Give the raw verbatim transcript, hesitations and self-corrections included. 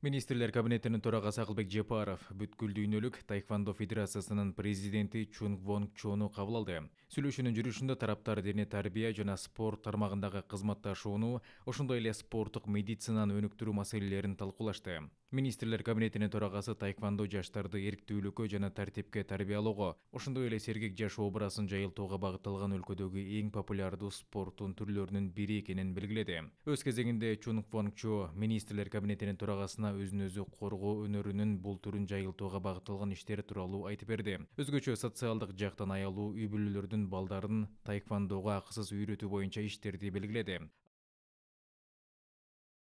Министрлер кабинетинин төрагасы Акылбек Жапаров бүткүл дүйнөлүк таэквондо федерациясынын президенти Чунг Вонг Чону кабыл алды. Сүйлөшүүнүн жүрүшүндө тараптар дене тарбия жана спорт тармагындагы кызматташууну, ошондой эле спорттук медицинаны өнүктүрүү маселелерин талкуулашты. Министрлер кабинетинин төрагасы таэквондо жаштарды эрктүүлүккө жана тартипке тарбиялоого, ошондой эле сергек жашоо образын жайылтууга багытталган өлкөдөгү эң популярдуу спорттун түрлөрүнүн бири экенин белгиледи. Өз кезегинде Чунг Вонг Чо министрлер кабинетинин төрагасына өзүн өзү коргоо өнөрүнүн бул түрүн жайылтууга багытталган иштер тууралуу айтып берди. Өзгөчө социалдык жактан аялуу үй бүлөлөрдүн балдарын таэквондого акысыз үйрөтүү боюнча иштерди белгиледи.